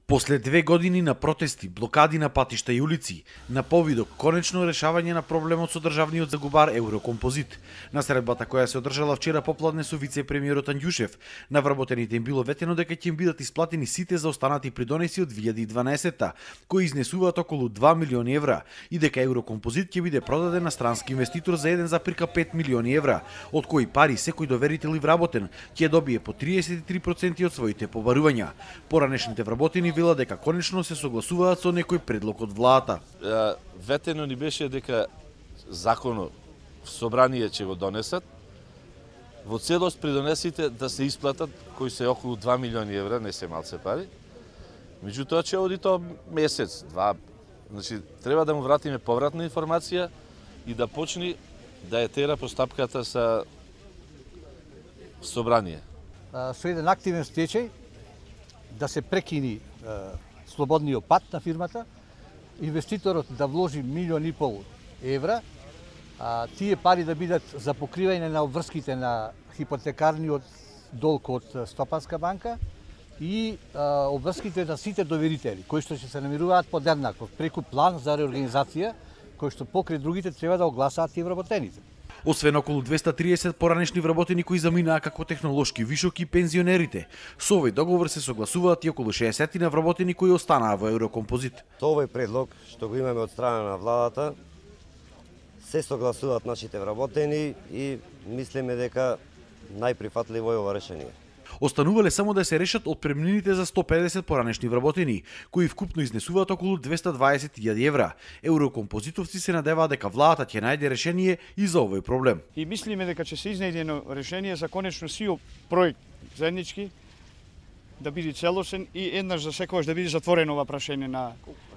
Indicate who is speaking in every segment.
Speaker 1: После 2 години на протести, блокади на патишта и улици, на повидок конечно решавање на проблемот со државниот загубар Еврокомпозит. На средбата која се одржала вчера попладне со вице-премиерот Анѓушев, на вработените им било ветено дека ќе им бидат исплатени сите заостанати придонеси од 2012-та, кои изнесуваат околу 2 милиони евра, и дека Еврокомпозит ќе биде продаден на странски инвеститор за 1,5 милиони евра, од кои пари секој доверител и вработен ќе добие по 33% од своите побарувања. Поранешните вработени вела дека конечно се согласуваат со некој предлог од владата.
Speaker 2: Ветено ни беше дека законот в собрание ќе го донесат, во целост придонесите да се исплатат, кои се околу 2 милиони евра, не се малце пари. Меѓутоа ќе оди тоа месец, два. Значи, треба да му вратиме повратна информација и да почне да е тера постапката со собрание.
Speaker 3: Со еден активен стечај да се прекини слободниот пат на фирмата, инвеститорот да вложи 1,5 милиони евра, тие пари да бидат за покривање на обврските на хипотекарниот долг од Стопанска банка и обврските на сите доверители, кои што ќе се намируваат подеднакво преку план за реорганизација, кој што покрај другите треба да огласаат и вработените.
Speaker 1: Освен околу 230 поранешни вработени кои заминаа како технолошки вишок и пензионерите, со овој договор се согласуваат и околу 60 на вработени кои останаа во Еврокомпозит.
Speaker 4: Овој предлог што го имаме од страна на владата се согласуваат нашите вработени и мислиме дека најприфатливо е ова решение.
Speaker 1: Останувале само да се решат отпремнините за 150 поранешни вработени, кои вкупно изнесуваат околу 220.000 евра. Еврокомпозитовци се надеваат дека владата ќе најде решение и за овој проблем.
Speaker 5: И мислиме дека ќе се изнајде едно решение за конечно сиот проект заеднички да биде целосен и еднаш за секогаш да биде затворено ова прашање на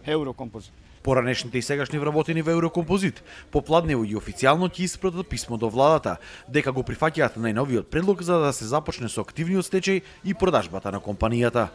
Speaker 5: Еврокомпозит.
Speaker 1: Поранешните и сегашни вработени во Еврокомпозит попладнево и официјално ќе испратат писмо до владата дека го прифаќаат најновиот предлог за да се започне со активниот стечај и продажбата на компанијата.